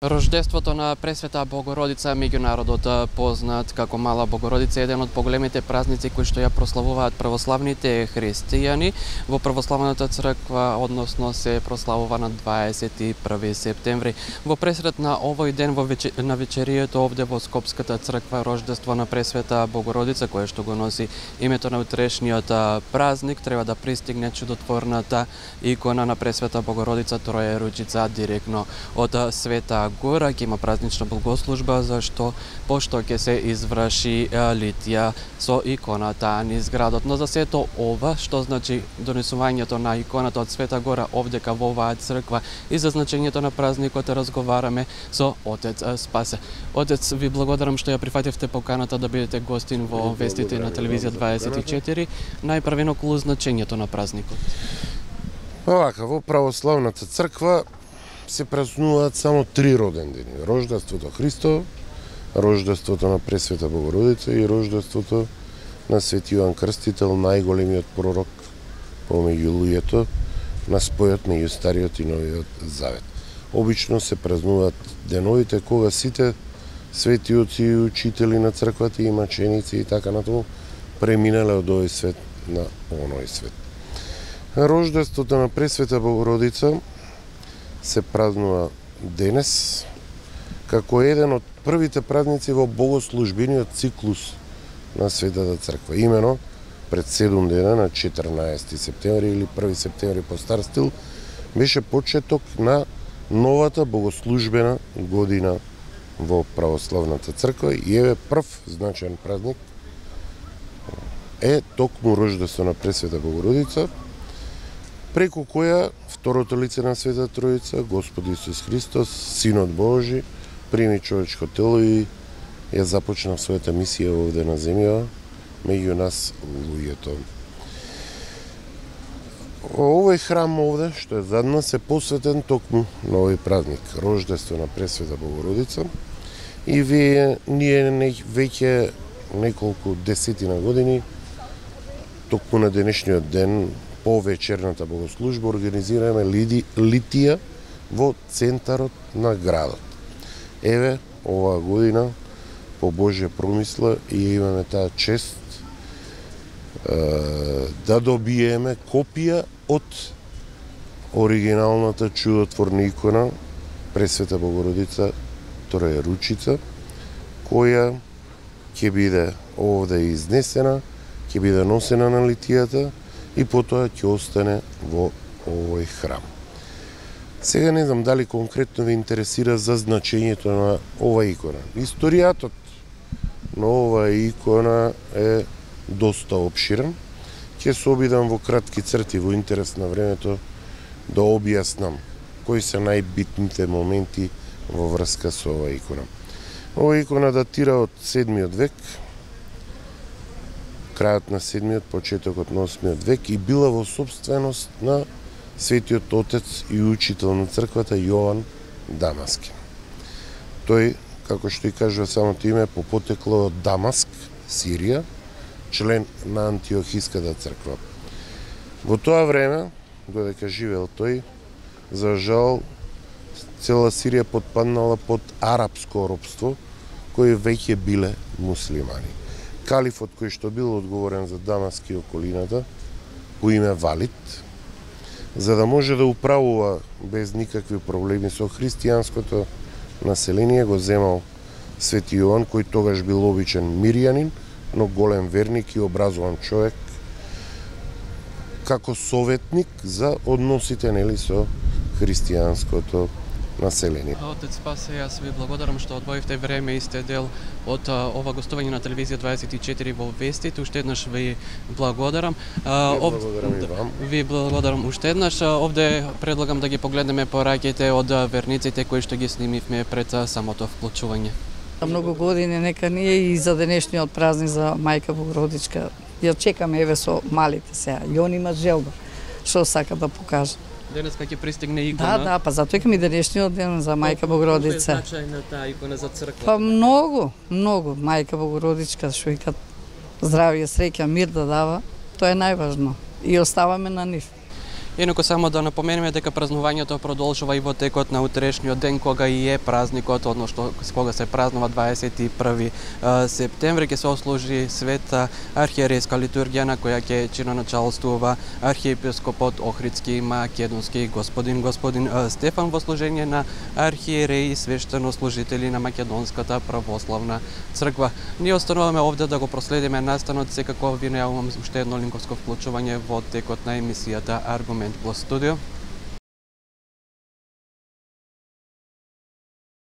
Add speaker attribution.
Speaker 1: Рождеството на Пресвета Богородица, меѓу народот познат како Мала Богородица, е еден од поголемите празници кои што ја прославуваат православните христијани. Во православната црква, односно се прославува на 21 септември. Во пресред на овој ден на вечерието овде во Скопската црква Рождество на Пресвета Богородица, кое што го носи името на утрешниот празник, треба да пристигне чудотворната икона на Пресвета Богородица Троеручица директно од Света Гора. Ќе има празнична благослужба пошто ќе се изврши литија со иконата низ градот. Но за сето ова, што значи донесувањето на иконата од Света Гора овдека во оваа црква и за значењето на празникот разговараме со отец Спасе. Отец, ви благодарам што ја прифативте поканата да бидете гостин во вестите на телевизија 24. Најпрвено околу значењето на празникот.
Speaker 2: Овака, во православната црква се празнуваат само 3 родендени: Рождеството Христово, Рождеството на Пресвета Богородица и Рождеството на Свети Јоан Крстител, најголемиот пророк помеѓу луѓето на спојот меѓу Стариот и Новиот Завет. Обично се празнуваат деновите кога сите свети отци и учители на црквата и маченици и така натаму преминале од овој свет на оној свет. Рождеството на Пресвета Богородица се празнува денес како еден од првите празници во богослужбениот циклус на Светата црква. Имено пред 7 дена на 14 септември или 1 септември по стар стил беше почеток на новата богослужбена година во православната црква и еве прв значаен празник е токму Рождество на Пресвета Богородица, преку која второто лице на Света Троица, Господ Исус Христос, Синот Божи, прими човечко тело и ја започна својата мисија овде на земја меѓу нас луѓето. Овој храм овде, што е зад нас, е посветен токму на овој празник, Рождество на Пресвета Богородица, и ние веќе неколку десетина години, токму на денешниот ден, по вечерната богослужба организираме литија во центарот на градот. Еве, оваа година, по Божја промисла, и имаме таа чест да добиеме копија од оригиналната чудотворна икона Пресвета Богородица Троеручица, која ќе биде овде изнесена, ќе биде носена на литијата и потоа ќе остане во овој храм. Сега не знам дали конкретно ви интересира за значењето на оваа икона. Историјатот на оваа икона е доста обширен. Ќе се обидам во кратки црти, во интерес на времето, да објаснам кои се најбитните моменти во врска со оваа икона. Оваа икона датира од 7 век, крајот на 7-миот, почетокот на 8-миот век и била во собственост на светиот отец и учител на црквата Јован Дамаски. Тој, како што и кажува самото име, по потекло од Дамаск, Сирија, член на Антиохиската црква. Во тоа време, додека живеел тој, за жал, цела Сирија потпаднала под арапско робство, кои веќе биле муслимани. Калифот кој што бил одговорен за Дамаск и околината, по име Валид, за да може да управува без никакви проблеми со христијанското население, го земал Свети Јован, кој тогаш бил обичен мирјанин, но голем верник и образован човек, како советник за односите со христијанското население.
Speaker 1: Отец Спасе, јас ви благодарам што одвоивте време и сте дел од ова гостување на телевизија 24 во вестите. Уште еднаш ви благодарам.
Speaker 2: Благодарам и вам.
Speaker 1: Ви благодарам уште еднаш. Овде предлагам да ги погледнеме пораќите од верниците кои што ги снимивме пред самото вклучување.
Speaker 3: Многу години нека ние и за денешниот празник за Мајка Богородичка ја чекаме еве со малите сега. И он има желба што сака да покаже.
Speaker 1: Денеска ќе пристигне икона.
Speaker 3: Да, па затоа и денешниот ден за Мајка Богородица.
Speaker 1: Колку е значајна таа икона за црквата?
Speaker 3: Па многу. Мајка Богородичка што вика здравје, среќа, мир да дава, тоа е најважно. И оставаме на нив.
Speaker 1: Инаку само да напоменеме дека празнувањето продолжува и во текот на утрешниот ден, кога и е празникот, односно кога се празнува 21 септември, ќе се ослужи света архиерейска литургија на која ќе чиноначалствува архиепископот Охридски и Македонски господин Стефан во служење на архиереи и свештенослужители на Македонската православна црква. Ние остануваме овде да го проследиме настанот, секако ви најавувам уште едно линковско вклучување во текот на емисијата Аргумент во студио.